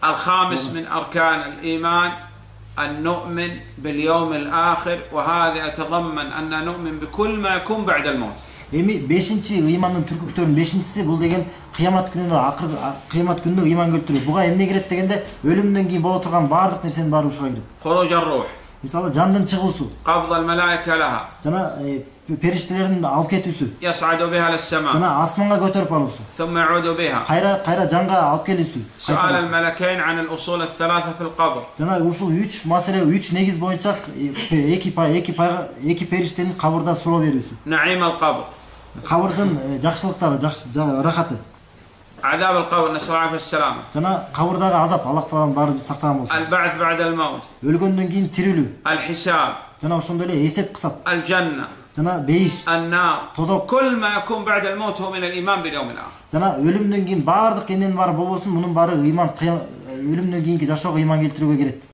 الخامس من أركان الإيمان أن نؤمن باليوم الآخر وهذا يتضمن أن نؤمن بكل ما يكون بعد الموت. Эми 5-чи ыймандын түркүктөрүнүн 5-чиси бул деген кыямат күнүнө ыйман келтирүү. Буга эмне кирет дегенде өлүмдөн кийин боло турган баардык нерсенин баары ушуга кирет. خروج الروح. Мисалы жандын чыгуусу. قبض الملائكة لها. Жана периштелердин алып кетүүсү. يصعد بها للسماء. Жана асманга көтөрүп алуусу. ثم يعود بها. Кайра жанга алып келүүсү. سؤال الملكين عن الأصول الثلاثة في القبر. Жана ушул 3 маселе 3 негиз боюнча эки периштенин кабырда суроо берүүсү. نعيم القبر. Кабырдын жакшылыктары, рахаты. عذاب القبر نسأل الله العافية والسلامة. Жана кабырдагы азап, Аллах таалам баары биз сактаган болсун. البعث بعد الموت. Өлгөндөн кийин тирилүү. الحساب. Жана ошондой эле эсеп кысап. الجنة. Жана бейиш. النار. Тозок. كل ما يكون بعد الموت هو من الإيمان باليوم الآخر. Жана өлүмдөн кийин баардык эмненин баары болбосун, мунун баары ыйман, өлүмдөн кийинки жашоого ыйман келтирүүгө келет.